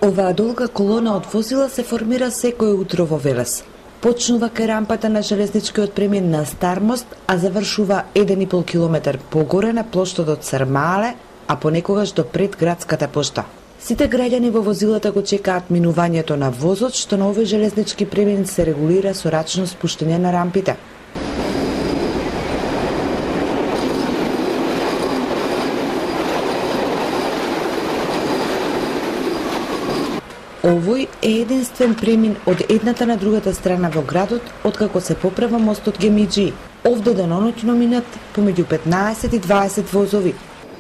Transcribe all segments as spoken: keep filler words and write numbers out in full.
Оваа долга колона од возила се формира секој утро во Велес. Почнува кај рампата на железничкиот премин на Стармост, а завршува еден и пол километар погоре на плоштадот Сармаале, а понекогаш до пред градската пошта. Сите граѓани во возилата го чекаат минувањето на возот, што на овој железнички премин се регулира со рачно спуштање на рампите. Овој е единствен премин од едната на другата страна во градот, откако се поправа мостот Гемиџи. Овде деноноќно минат помеѓу петнаесет и дваесет возови.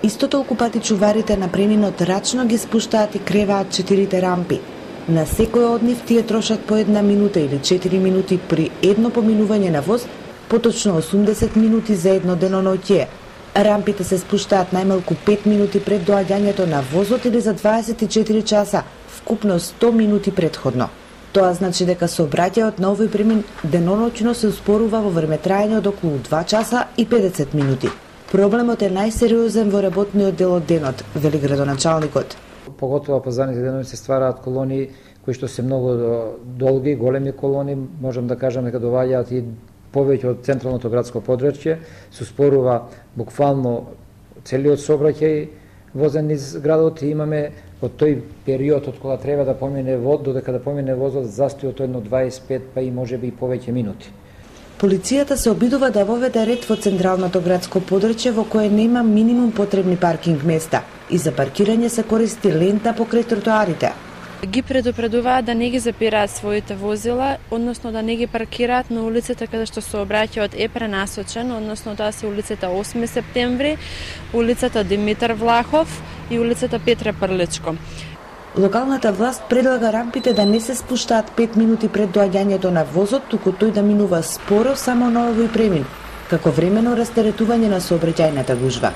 Исто толку пати чуварите на преминот рачно ги спуштаат и креваат четирите рампи. На секој од нив тие трошат по една минута или четири минути при едно поминување на воз, поточно осумдесет минути за едно деноноќе. Рампите се спуштаат најмалку пет минути пред доаѓањето на возот или за дваесет и четири часа, вкупно сто минути предходно. Тоа значи дека сообраќајот на овој премин деноноќно се успорува во времетраење од околу два часа и педесет минути. Проблемот е најсериозен во работниот дел од денот, вели градоначалникот. Поготово пазарните денови се ствараат колони кои што се многу долги, големи колони, можам да кажам дека доаѓаат и повеќе од централното градско подрачје, се успорува буквално целиот сообраќај возен низ градот и имаме од тој период од кога треба да помине вод, додека да помине возот, застојот едно дваесет и пет па и можеби и повеќе минути. Полицијата се обидува да воведе ред во централното градско подрачје во кое нема минимум потребни паркинг места и за паркирање се користи лента покрај тротоарите. Ги предупредуваат да не ги запираат своите возила, односно да не ги паркираат на улицата каде што сообраќајот е пренасочен, односно тоа се улицата осми септември, улицата Димитар Влахов и улицата Петре Прличко. Локалната власт предлага рампите да не се спуштаат пет минути пред доаѓањето на возот, туку тој да минува споро само на овој премин, како времено растеретување на сообраќајната гужва.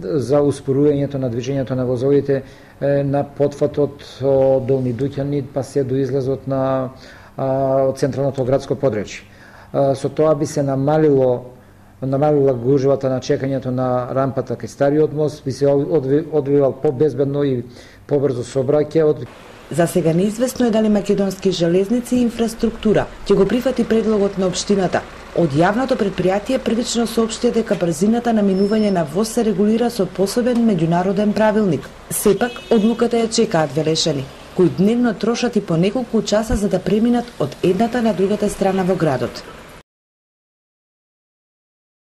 За успорувањето на движењето на возовите на потфатот од Долни Дуќани па се до излезот на од централното градско подрачје. Со тоа би се намалило намалила гужвата на чекањето на рампата кај стариот мост, би се одвивал побезбедно и побрзо сообраќајот. За сега неизвестно е дали Македонски железници и инфраструктура ќе го прифати предлогот на општината. Од јавното предпријатие првично соопштија дека брзината на минување на воз се регулира со посебен меѓународен правилник. Сепак, одлуката ја чекаат велешани, кои дневно трошат и по неколку часа за да преминат од едната на другата страна во градот.